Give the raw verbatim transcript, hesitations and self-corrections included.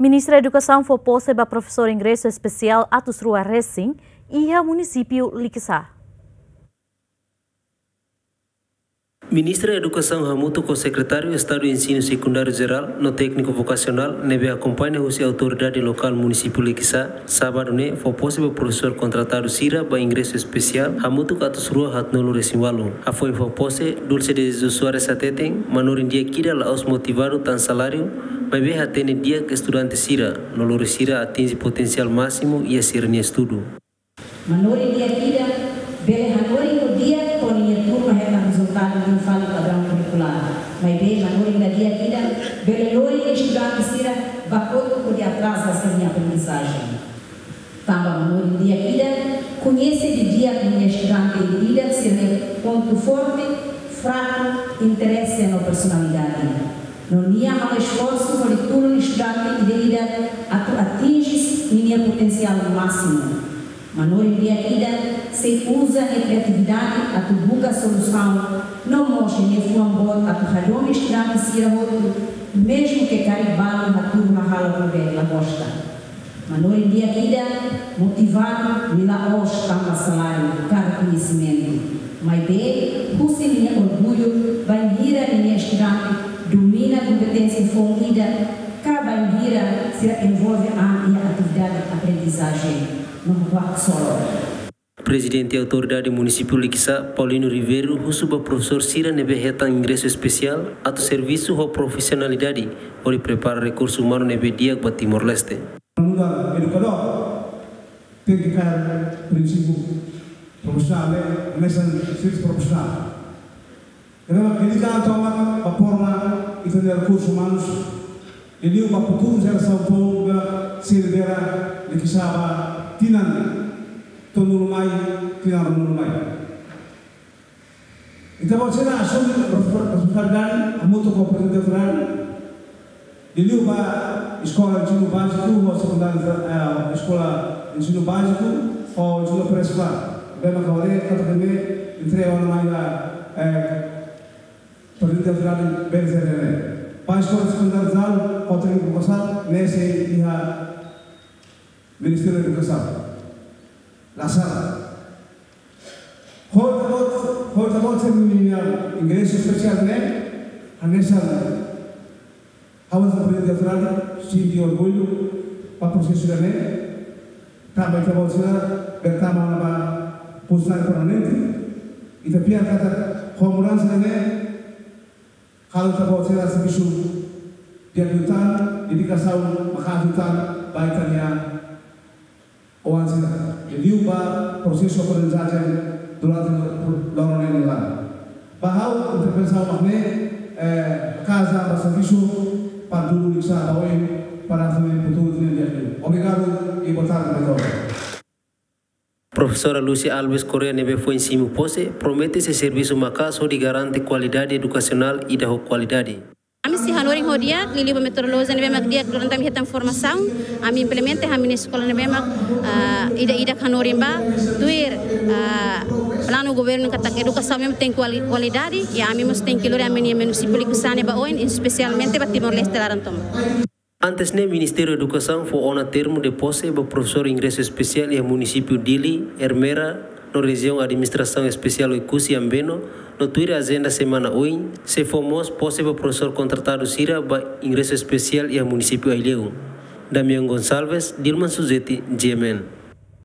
Ministra Edukasaun fó pose ba profesór ingresu espesiál atus rua resin iha munisípiu Likisá. Ministra Edukasaun hamutuk ho Sekretáriu Estadu Ensinu Sekundáriu Jerál no Tékniku Vokasionál ne'ebé akompaña husi autoridade lokál munisípiu Likisá, sábadu ne'e fó pose ba profesór kontratadu sira ba ingresu espesiál hamutuk atus rua haatnulu resin ualu. Hafoin fó pose, Dulce de Jesus Soares hateten, manorin di'ak ida la'ós motivadu tan saláriu, maibé hatene di'ak estudante sira, no lori sira atinje potensiál másimu iha sira-nia estudu. Manorin di'ak ida bele hanorin ho di'ak to'o nia turma hetan rezultadu liu fali padraun kurikulár. Maibé manorin la di'ak ida bele lori nia estudante sira ba kotuk hodi atraza sira-nia aprendizajen. Tanba manorin di'ak ida koñese didi'ak ninia estudante ida-idak sira-nia pontu forte, fraku, interese no personalidade. No nia halo esforsu hodi tulun estudante ida-idak atu atinje ninia potensiál másimu. Manorin di'ak ida sei uza nia kriatividade atu buka solusaun no mós nia fuan boot atu hadomi estudante sira hotu, mezmu ke karik balu hatudu hahalok ne'ebé la gosta. Manorin di'ak ida motivadu, nia la'ós tanba saláriu ka rekoñesimentu. Maibé husi ninia orgullu bainhira ninia estudante domina kompeténsia foun ida, ka bainhira sira envolve an iha atividade aprendizajen no workshop. Prezidente Autoridade Munisípiu Likisá, Paulino Ribeiro, husu ba profesór sira ne'ebé hetan ingresu espesiál atu servisu ho profisionalidade hodi prepara rekursu umanu ne'ebé di'ak ba Timor-Leste. Nu'udar edukadór, tenke kaer prinsípiu profisionál, eh, hanesan servisu profisionál. Ne'ebé mak dedika an tomak ba forma ita-nia rekursu umanus, liuliu ba futuru jerasaun foun ne'ebé sei lidera Likisá ba tinan tolunulu mai, tinan ruanulu mai. Ita-boot sira asume responsabilidade hamutuk ho Prezidente Autoridade, liuliu ba eskola ensinu báziku ho sekundáriu, eh, eskola ensinu báziku ho ensinu pré-eskolár. Bema kabaré katak ne'e entrega ona mai ba, eh, Prezidente Autoridade bele jere ne'e. Ba eskola sekundáriu jerál ho tékniku vokasionál ne'e sei iha Ministériu Edukasaun. La sala. Ho ita-boot, ho ita-boot sira-nia ingresu espesiál ne'e, hanesan ha'u hanesan Prezidente Autoridade sente orgullu ba prosesu ida-ne'e, tanba ita-boot sira bele tama ona ba funsionáriu permanente, ita fiar katak ho mudansa ida-ne'e, halo ita-boot sira servisu di'ak liután, dedikasaun maka'as liután ba ita-nia oan sira. Liuliu ba prosesu aprendizajen durante loron ne'e nia laran. Ba ha'u intervensaun mak ne'e, eh, kaza ba servisu para dudu Likisá ba oin para atu futuru nia di'ak liu. Obrigadu e boa tarde ba todos. Profesora Lúcia Alves Correia ne'ebé foin simu pose, promete sei servisu maka'as hodi garante kualidade edukasionál ida ho kualidade. Ami sei hanorin ho di'ak, liuliu ba metodolojia ne'ebé mak di'ak durante ami hetan formasaun, ami implementa iha ami-nia eskola ne'ebé mak, ah, ida-idak hanorin ba, tuir, ah, planu governu katak edukasaun mós tenke kuali-, kualidade, i ami mós tenke lori ami-nia munisípiu Likisá ne'e ba oin, espesialmente ba Timor-Leste laran tomak. Antes ne'e, Ministériu Edukasaun fó ona termu de pose ba profesór ingresu espesiál iha munisípiu Dili, Ermera, no Rejiaun Administrasaun Espesiál Oekusi Ambeno, no tuir ajenda semana oin, sei fó mós pose ba profesór kontratadu sira ba ingresu espesiál iha munisípiu Aileu. Damian Gonçalves, Dilman Suzeti, G M N.